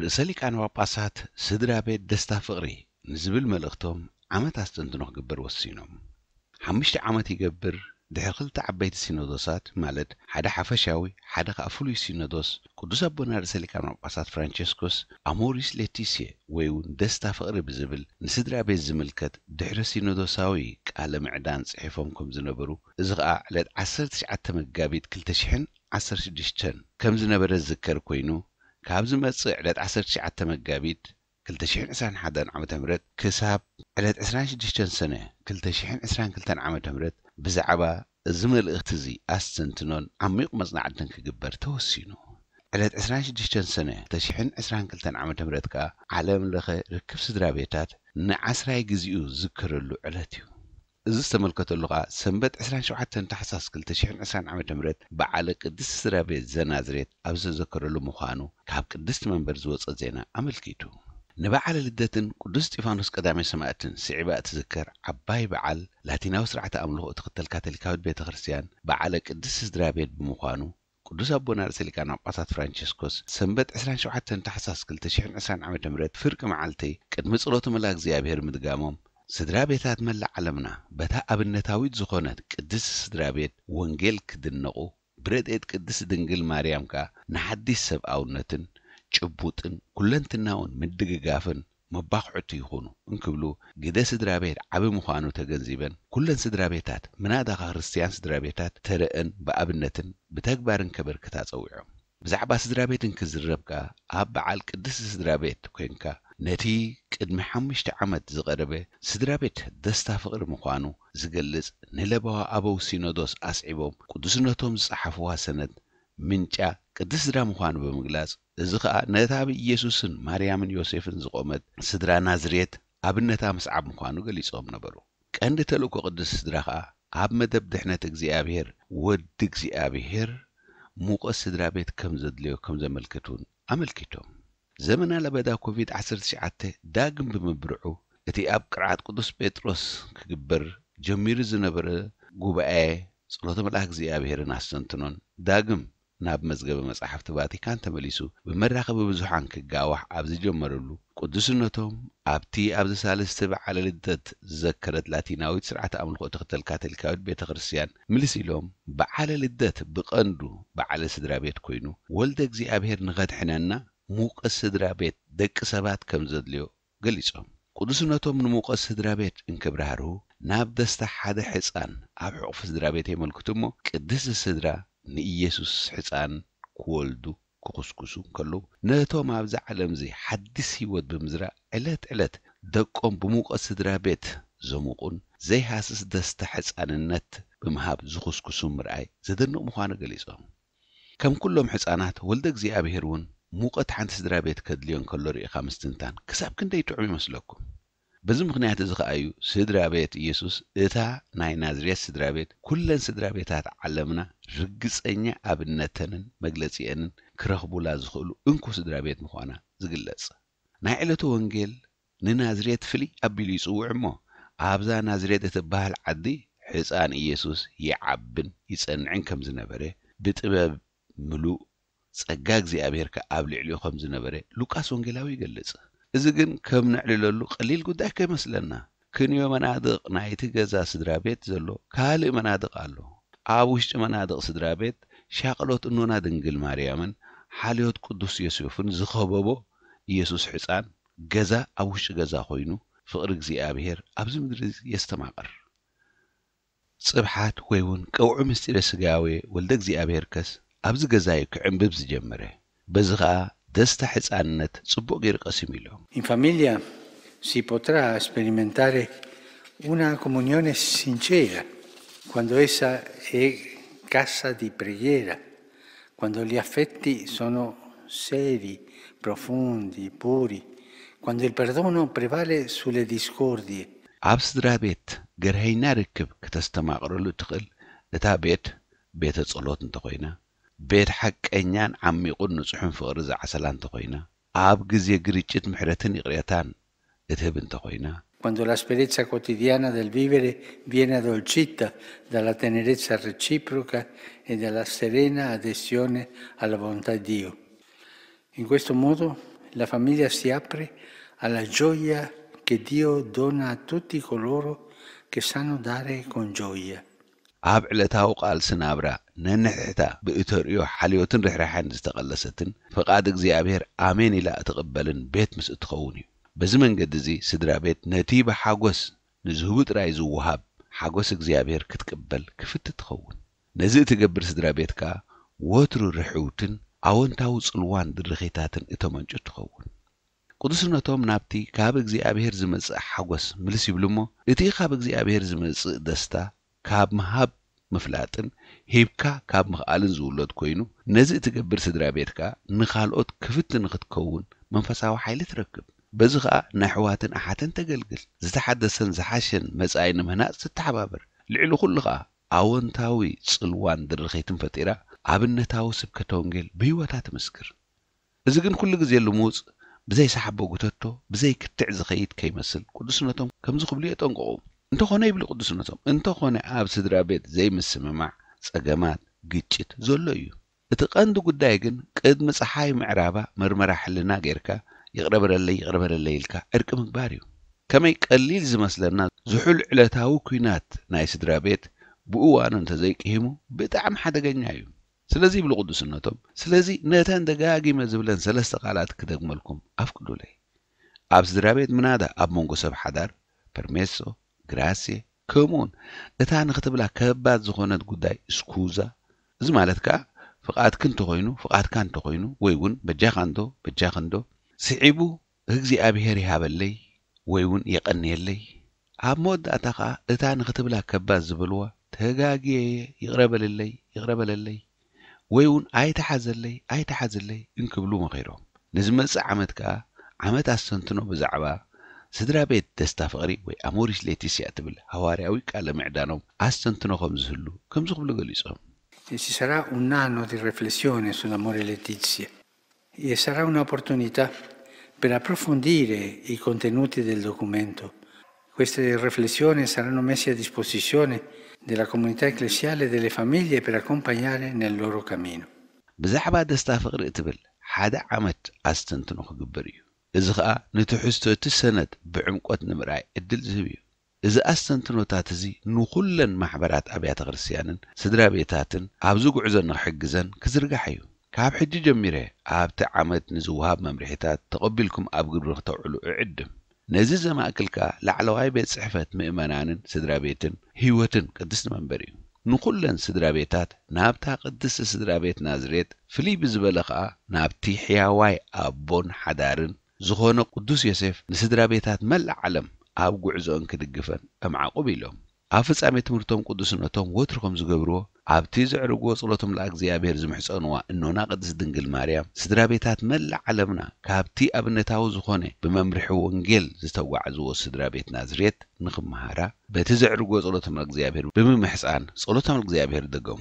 ርእሰ ሊቃነ ጳጳሳት ስድራ ቤት ደስታ ፍቕሪ ንዝብል መልእኽቶም ዓመት ኣስተንትኖ ክግበር ወሲኖም። ሓሙሽተ ዓመት ይገብር ድሕሪ ክልተ ዓበይቲ ሲኖዶሳት፣ ማለት ሓደ ሓፈሻዊ ሓደ ከኣ ፍሉይ ሲኖዶስ፣ ቅዱስ ኣቦና ርእሰ ሊቃነ ጳጳሳት ፍራንቸስኮስ ኣሞሪስ ሌቲሲየ ወይ እውን ደስታ ፍቕሪ ብዝብል ንስድራ ቤት ዝምልከት ድሕረ ሲኖዶሳዊ ቃለ ምዕዳን ጽሒፎም ከም ዝነበሩ፣ እዚ ኸኣ ዕለት ዓሰርተ ትሽዓተ መጋቢት ክልተ ሽሕን ዓሰርተ ሽዱሽተን ከም ዝነበረ ዝዝከር ኮይኑ፣ ካብ ዝመጽእ ዕለት ዓሰርተ ትሽዓተ መጋቢት ክልተ ሽሕን ዕስራን ሓደን ዓመተ ምህረት ክሳብ ዕለት ዕስራን ሽዱሽተን ሰነ ክልተ ሽሕን ዕስራን ክልተን ዓመተ ምህረት ብዛዕባ እዚ መልእኽቲ እዚ ኣስተንትኖን ዓሚቕ መጽናዕትን ክግበር ተወሲኑ። ዕለት ዕስራን ሽዱሽተን ሰነ ክልተ ሽሕን ዕስራን ክልተን ዓመተ ምህረት ከኣ ዓለም ለኸ ርክብ ስድራ ቤታት ንዓስራይ ግዜኡ ዝዝከረሉ ዕለት እዩ። እዚ ዝተመልከተሉ ከኣ ሰንበት ዕስራን ሸውዓተን ታሕሳስ ክልተ ሽሕን ዕስራን ዓመተ ምህረት በዓለ ቅድስቲ ስድራ ቤት ዘናዝሬት ኣብ ዝተዘከረሉ ምዃኑ ካብ ቅድስቲ መንበር ዝወጸ ዜና ኣመልኪቱ። ንበዓለ ልደትን ቅዱስ እስጢፋኖስ ቀዳማይ ሰማእትን ስዒባ እትዝከር ዓባይ በዓል ላቲናዊ ስርዓተ ኣምልኾ እትኽተል ካቶሊካዊት ቤተ ክርስቲያን በዓለ ቅድስቲ ስድራ ቤት ብምዃኑ ቅዱስ ኣቦና ርእሰ ሊቃነ ጳጳሳት ፍራንቸስኮስ ሰንበት ዕስራን ሸውዓተን ታሕሳስ ክልተ ሽሕን ዕስራን ዓመተ ምህረት ፍርቂ መዓልቲ ቅድሚ ጸሎተ መልኣ እግዚኣብሔር ምድጋሞም ስድራ ቤታት መላእ ዓለምና በታ ኣብነታዊት ዝኾነት ቅድስቲ ስድራ ቤት ወንጌል ክድነቑ ብረድኤት ቅድስቲ ድንግል ማርያም ከኣ ንሓዲስ ሰብኣውነትን ጭቡጥን ኩለንትናውን ምድግጋፍን መባኹዕቲ ይኹኑ እንክብሉ ግደ ስድራ ቤት ዓቢ ምዃኑ ተገንዚበን ኩለን ስድራ ቤታት ምናዳኻ ክርስትያን ስድራ ቤታት ተረእን ብኣብነትን ብተግባርን ከበርክታ ጸዊዖም። ብዛዕባ ስድራ ቤት እንክዝረብ ከኣ ኣብ በዓል ቅድስቲ ስድራ ቤት ኮይንካ ነቲ ቅድሚ ሓሙሽተ ዓመት ዝቐረበ ስድራ ቤት ደስታ ፍቕሪ ምዃኑ ዝገልጽ ንለባዋ ኣበው ሲኖዶስ ኣስዒቦም ቅዱስነቶም ዝጸሓፍዋ ሰነድ ምንጫ ቅድስቲ ስድራ ምዃኑ ብምግላጽ፣ እዚ ኸኣ ነታ ብኢየሱስን ማርያምን ዮሴፍን ዝቖመት ስድራ ናዝሬት ኣብነታ ምስዓብ ምዃኑ ገሊጾም ነበሩ። ቀንዲ ተልእኮ ቅድስቲ ስድራ ኸኣ ኣብ መደብ ድሕነት እግዚኣብሔር ወዲ እግዚኣብሔር ሙቐት ስድራ ቤት ከም ዘድልዮ ከም ዘመልክት እውን ኣመልኪቶም። ዘመና ለበዳ ኮቪድ ዓሰርተ ትሽዓተ ዳግም ብምብርዑ እቲ ኣብ ቅርዓት ቅዱስ ጴጥሮስ ክግበር ጀሚሩ ዝነበረ ጉባኤ ጸሎተ መልኣክ እግዚኣብሔርን ኣስተንትኖን ዳግም ናብ መዝገበ መጻሕፍቲ ቫቲካን ተመሊሱ ብመራኸቢ ብዙሓን ክጋዋሕ ኣብ ዝጀመረሉ ቅዱስነቶም ኣብቲ ኣብዚ ሳልስቲ በዓለ ልደት ዝዘከረት ላቲናዊት ስርዓተ ኣምልኾ ትኽተል ካቶሊካዊት ቤተ ክርስቲያን ምልስ ኢሎም በዓለ ልደት ብቐንዱ በዓለ ስድራ ቤት ኮይኑ ወልደ እግዚኣብሔር ንኸድሕነና ሙቐት ስድራ ቤት ደቂ ሰባት ከም ዘድልዮ ገሊጾም። ቅዱስነቶም ንሙቐት ስድራ ቤት እንክብራህርሁ ናብ ደስታ ሓደ ሕፃን ኣብ ሕቑፊ ስድራ ቤት የመልክቱ እሞ ቅድስቲ ስድራ ንኢየሱስ ሕፃን ክወልዱ ክኹስኩሱ እንከለዉ ነቶም ኣብዚ ዓለም እዚ ሓድስ ህይወት ብምዝራእ ዕለት ዕለት ደቆም ብሙቐት ስድራ ቤት ዘሙቑን ዘይሃስስ ደስታ ሕፃንነት ብምሃብ ዝኹስኩሱ ምርኣይ ዘደንቕ ምዃኑ ገሊጾም። ከም ኩሎም ሕፃናት ወልደ እግዚኣብሔር እውን ሙቐት ሓንቲ ስድራ ቤት ከድልዮ እንከሎ ርኢኻ ምስትንታን ክሳብ ክንደይ ጥዑም ይመስለኩም? በዚ ምኽንያት እዚ ኸኣ እዩ ስድራ ቤት ኢየሱስ እታ ናይ ናዝሬት ስድራ ቤት ኩለን ስድራ ቤታት ዓለምና ርግጸኛ ኣብነተንን መግለጺአንን ክረኽቡላ ዝኽእሉ እንኮ ስድራ ቤት ምዃና ዝግለጽ። ናይ ዕለቱ ወንጌል ንናዝሬት ፍልይ ኣቢሉ ይጽውዕ እሞ ኣብዛ ናዝሬት እትበሃል ዓዲ ሕፃን ኢየሱስ ይዓብን ይጸንዕን ከም ዝነበረ ብጥበብ ምሉእ ጸጋ እግዚኣብሔር ከኣ ኣብ ልዕሊኡ ከም ዝነበረ ሉቃስ ወንጌላዊ ይገልጽ። እዚ ግን ከም ነዕልለሉ ቀሊል ጉዳይ ከይመስለና። ክንዮ መናድቕ ናይቲ ገዛ ስድራ ቤት ዘሎ ካልእ መናድቕ ኣሎ። ኣብ ውሽጢ መናድቕ ስድራ ቤት ሻቕሎት እኖና ድንግል ማርያምን ሓልዮት ቅዱስ ዮሴፍን ዝኸበቦ ኢየሱስ ሕፃን ገዛ ኣብ ውሽጢ ገዛ ኮይኑ ፍቕሪ እግዚኣብሔር ኣብዚ ምድሪ የስተማቕር። ጽብሓት ወይ እውን ቀውዒ ምስጢረ ስጋዌ ወልደ እግዚኣብሔር ከስ ኣብዚ ገዛ እዩ ክዕንብብ ዝጀመረ። በዚ ኸኣ ደስታ ሕፃንነት ጽቡቕ ገይሩ ቀሲሙ ኢሎም። In famiglia si potrà sperimentare una comunione sincera quando essa è casa di preghiera, quando gli affetti sono seri, profondi, puri, quando il perdono prevale sulle discordie. ኣብ ስድራ ቤት ገርሀይና ርክብ ክተስተማቕረሉ እትኽእል እታ ቤት ቤተ ጸሎት እንተኾይና፣ ቤት ሓቀኛን ዓሚቑን ንጹሕን ፍቕሪ ዝዓሰላ እንተኾይና፣ ኣብ ግዜ ግርጭት ምሕረትን ይቕሬታን እትህብ እንተኾይና፣ Quando l'asperezza quotidiana del vivere viene addolcita dalla tenerezza reciproca e dalla serena adesione alla volontà di Dio. In questo modo La famiglia si apre alla gioia che Dio dona a tutti coloro che sanno dare con gioia. ኣብ ዕለታዊ ቃልሲ ናብራ ነንሕድሕዳ ብእተርእዮ ሓልዮትን ርሕራሕን ዝተቐለሰትን ፍቓድ እግዚኣብሔር ኣሜን ኢላ እትቕበልን ቤት ምስ እትኸውን እዩ። በዚ መንገዲ እዚ ስድራ ቤት ነቲ ብሓጎስ ንዝህቡ ጥራይ ዝወሃብ ሓጎስ እግዚኣብሔር ክትቅበል ክፍቲ ትኸውን። ነዚ እትገብር ስድራ ቤት ከኣ ወትሩ ርሕውትን ኣወንታዊ ጽልዋን ድርኺታትን እተመንጩ ትኸውን። ቅዱስነቶም ናብቲ ካብ እግዚኣብሔር ዝመጽእ ሓጎስ ምልስ ይብሉ እሞ፣ እቲ ካብ እግዚኣብሔር ዝመጽእ ደስታ ካብ ምሃብ ምፍላጥን ሂብካ ካብ ምኽኣልን ዝውለድ ኮይኑ፣ ነዚ እትገብር ስድራ ቤትካ ንኻልኦት ክፍቲ ንኽትከውን መንፈሳዊ ሓይሊ ትረክብ። በዚ ኸኣ ንኣሕዋትን ኣሓትን ተገልግል። ዝተሓደሰን ዝሓሸን መጻኢ ንምህናጽ ትተሓባበር። ልዕሊ ኩሉ ኸኣ ኣወንታዊ ጽልዋን ድርኺትን ፈጢራ ኣብነታዊ ስብከተ ወንጌል ብህይወታ ትምስክር። እዚ ግን ኩሉ ግዜ ልሙጽ ብዘይ ሳሕቦ ጉተቶ ብዘይ ክትዕ ዝኸይድ ከይመስል ቅዱስነቶም ከምዚ ክብሉ የጠንቅቑ። እንተኾነ ይብሉ ቅዱስነቶም፣ እንተኾነ ኣብ ስድራ ቤት ዘይምስምማዕ፣ ጸገማት፣ ግጭት ዘሎ እዩ። እቲ ቀንዲ ጉዳይ ግን ቅድሚ ጸሓይ ምዕራባ መርመራ ሕልና ጌርካ ይቕረ በለለይ ይቕረ በለለይ ኢልካ ዕርቂ ምግባር እዩ። ከመይ ቀሊል ዝመስለና ዝሑል ዕለታዊ ኲናት ናይ ስድራ ቤት ብእዋኑ እንተዘይቅሂሙ ብጣዕሚ ሓደገኛ እዩ። ስለዚ ይብሉ ቅዱስነቶም፣ ስለዚ ነተን ደጋጊመ ዝብለን ሰለስተ ቃላት ክደግመልኩም ኣፍቅዱለይ። ኣብ ስድራ ቤት ምናዳ ኣብ መንጎ ሰብ ሓዳር፣ ፐርሜሶ፣ ግራሴ፣ ከምኡውን እታ ንኽትብላ ከባድ ዝኾነት ጉዳይ ስኩዛ፣ እዚ ማለት ከኣ ፍቓድኪ እንተኾይኑ ፍቓድካ እንተኾይኑ ወይ እውን በጃኻ እንዶ በጃኺ እንዶ ስዒቡ እግዚኣብሔር ይሃበለይ ወይ እውን የቐንየለይ። ኣብ መወዳእታ ኸኣ እታ ንኽትብላ ከባድ ዝበልዋ ተጋግየ እየ ይቕረ በልለይ ይቕረ በለለይ ወይ እውን ኣይትሓዘለይ ኣይትሓዝለይ እንክብሉ መኺሮም። ንዝመጽእ ዓመት ከኣ ዓመት ኣስተንትኖ ብዛዕባ ስድራ ቤት ደስታ ፍቕሪ ወይ ኣሞሪስ ሌቲስያ እትብል ሃዋርያዊ ቃለ ምዕዳኖም ኣስተንትኖ ከም ዝህሉ ከምዚ ክብሉ ገሊጾም። E ci sarà un anno di riflessione sull'amore letizia e sarà un'opportunità per approfondire i contenuti del documento. Queste riflessioni saranno messe a disposizione della comunità ecclesiale e delle famiglie per accompagnare nel loro cammino. ብዛዕባ ደስታ ፍቕሪ እትብል ሓደ ዓመት ኣስተንትኖ ክግበር እዩ። እዚ ኸኣ ንትሕዝቶ እቲ ሰነድ ብዕምቆት ንምርኣይ ዕድል ዝህብ እዩ። እዚ ኣስተንትኖታት እዚ ንኹለን ማሕበራት ኣብያተ ክርስቲያንን ስድራ ቤታትን ኣብዚ ጉዕዞ ንኽሕግዘን ክዝርጋሕ እዩ። ካብ ሕጂ ጀሚረ ኣብቲ ዓመት ንዝወሃብ መምርሒታት ተቐቢልኩም ኣብ ግብሪ ክተውዕሉ እዕድም። ነዚ ዘማእክል ከኣ ላዕለዋይ ቤት ጽሕፈት ምእመናንን ስድራ ቤትን ህይወትን ቅድስቲ መንበር እዩ። ንኹለን ስድራ ቤታት ናብታ ቅድስቲ ስድራ ቤት ናዝሬት ፍልይ ብዝበለ ኸኣ ናብቲ ሕያዋይ ኣቦን ሓዳርን ዝኾነ ቅዱስ ዮሴፍ ንስድራ ቤታት መላእ ዓለም ኣብ ጉዕዞኦን ክድግፈን እምዓቑብ ኢሎም። ኣብ ፍጻሜ ትምህርቶም ቅዱስነቶም ወትሩ ከም ዝገብርዎ ኣብቲ ዘዕርግዎ ጸሎቶም ለእግዚኣብሔር ዝምሕጸንዋ እኖና ቅድስት ድንግል ማርያም ስድራ ቤታት መላእ ዓለምና ካብቲ ኣብነታዊ ዝኾነ ብመምርሒ ወንጌል ዝተጓዕዝዎ ስድራ ቤት ናዝሬት ንኽመሃራ በቲ ዘዕርግዎ ጸሎቶም ለእግዚኣብሔር ብምምሕጻን ጸሎቶም ለእግዚኣብሔር ደገሙ።